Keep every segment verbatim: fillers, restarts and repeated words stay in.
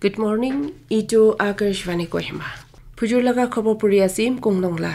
Good morning, itu Akashvani Kohima. Phujur laga khobor puri asim kongnong la.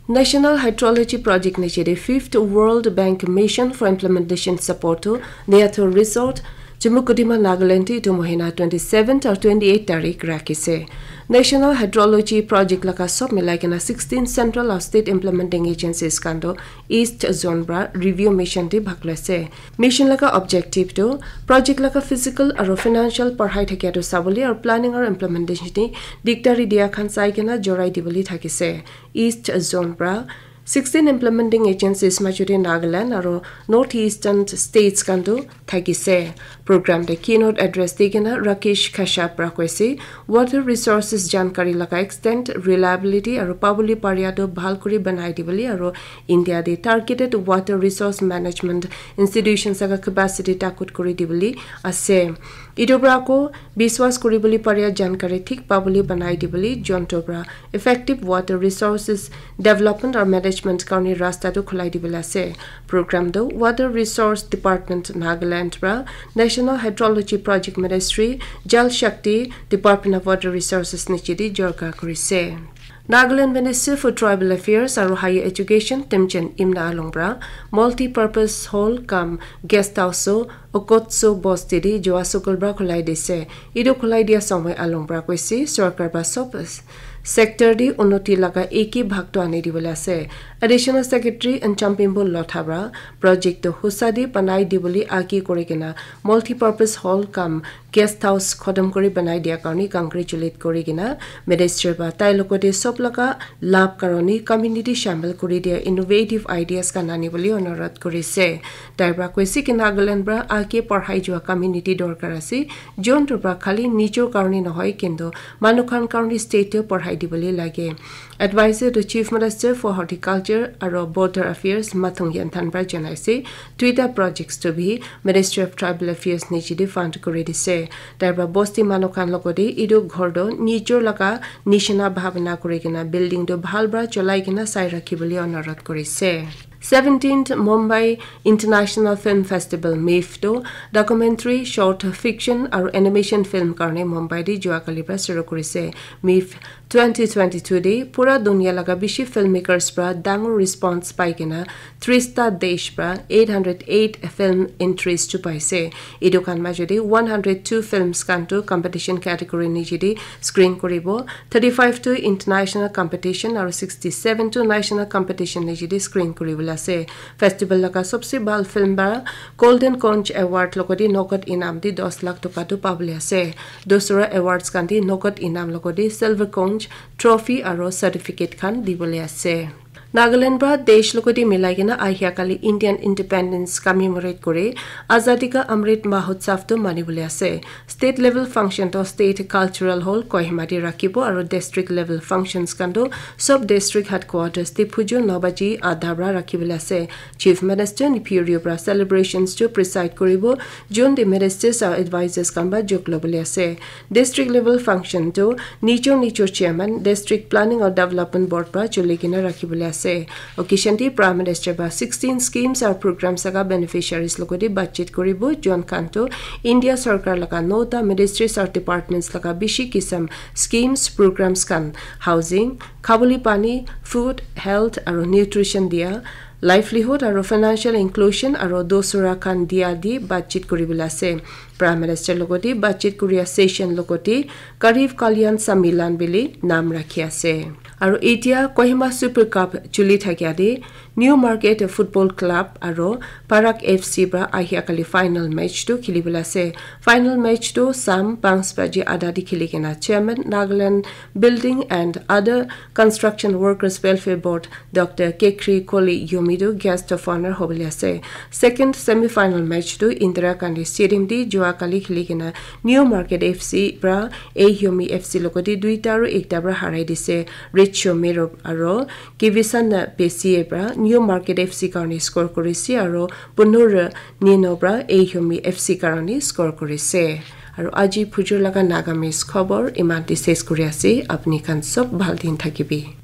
National Hydrology Project niche de Fifth World Bank Mission for Implementation Support to Neathor Resort, Chumukedima, Nagaland itu mohina twenty-seventh or twenty-eighth tarik rakhise. National Hydrology Project laga sob milai kena sixteen central or state implementing agencies kanto East Zone bra review mission te bhag loise. Mission laga objective tu project laga physical aro financial parhai thakia tu sabole aro planning aro implementation te dikdari dia khan sai kena jorai dibole thakise. East Zone pra sixteen implementing agencies majute Nagaland aro North Eastern states kanto thakise. Program te keynote address di kena Rakesh Kashyap pra koise, water resources jankari laga extent, reliability aro pabole paria tu bhal kuri banai dibole aro India te targeted water resource management institutions laga capacity takut kuri dibole ase. Itu pra ko biswas kuribole paria jankari thik pabole banai dibole jonto pra effective water resources development or management karni rasta tu khulai dibole ase. Program tu Water Resource Department Nagaland pra National Hydrology Project Ministry, Jal Shakti Department of Water Resources niche de jorka kurise. Nagaland Ministry for Tribal Affairs aro Higher Education Temjen Imna Along pra multi-purpose hall cum guest house so Okotso Bosti de Joa Sukul pra khulai dise. Idu khulai dia samoi Along pra koise sorkar pra sob sector de unoti laga eki bhag to ani dibole ase. Additional Secretary and Champimbo Lotha pra project to husa de banai dibole aki kuri kena multi-purpose hall cum guest house khodom kuri banai dia karni congratulate kuri kena minister ba tai logote sob laga lab karoni community shamil kuri dia innovative ideas kan ani bole onurodh kurise. Tai pra koise ki Nagaland pra ake parhai jua community dorkar ase, jonto pra khali nijor karoni nohoi kintu manu khan karoni state te parhai dibole lage. Advisor to Chief Minister for Horticulture aro Border Affairs Mathong Yanthan pra janaise, tuita projects to bi Ministry of Tribal Affairs niche de fund kuri dise. Tai pra bosti manu khan logote idu ghor do nijor laga nishina bhabna kuri kena building do bhal pra cholai kena sai rakhi bole onurodh kurise. Seventeenth Mumbai International Film Festival, MIFF, to documentary, short fiction aru animation film karne Mumbai de jua kali pra shuru kurise. MIFF twenty twenty-two de pura dunia laga bishi filmmakers pra dangor response pai kena trista desh pra eight hundred eight film entries chu paise. Etu khan major de one hundred two films khan tu competition category niche de screen kuribo, thirty-five tu international competition aru sixty-seven tu national competition niche de screen kuribole ase. Festival laga sobse bhal film para Golden Conch Award logodi nogod inam de dos lakh toka tu pabole ase. Dusra awards khan de nogod inam logodi silver conch trophy aru certificate khan dibole ase. Nagaland pra desh logodi milai kena ahia kali Indian Independence commemorate kore Azadi Ka Amrit Mahotsav tu manibole ase. State level function to State Cultural Hall Kohima de rakhibo aru district level functions khan tu sub district headquarters de phuju nobaji adha pra rakhibole ase. Chief Minister Neiphiu Rio pra celebrations chu preside kuribo, jun de ministers aru advisors khan pra jok lobole ase. District level function tu nijor nijor chairman, district planning aru development board pra chuli kena rakhibole ase. Occasion de Prime Minister pra sixteen schemes aru programs laga beneficiaries logodi batchit kuribo, jon khan tu India sarkar laga nota ministries aru departments laga bishi kisam schemes, programs khan housing, khabole pani, food, health aru nutrition dia, livelihood aru financial inclusion aru dosura khan dia de batchit kuribole ase. Prime Minister logodi batchit kuria session logodi Garib Kalyan Sammilan bili nam rakhi ase. Aru etia Kohima Super Cup chuli thakia de New Market Football Club aru Parak F C pra ahia kali final match tu khilibole ase. Final match tu sam panch baji adha de khili kena chairman Nagaland Building and Other Construction Workers Welfare Board Doctor Kekri Koli Yomi tu guest of honor hobole ase. Second semi final match tu Indira Gandhi Stadium de jua kali khili kena New Market F C pra A Yomi F C logodi duita aru ekta pra harai dise. Richo Mero aru Kivisana Pesie pra New Market F C karne score kurise aru Punur Nino pra A Yomi F C karne score kurise. Aru aji phujur laga Nagamese khobor iman de ses kuri ase. Apni khan sob bhal din thakibi.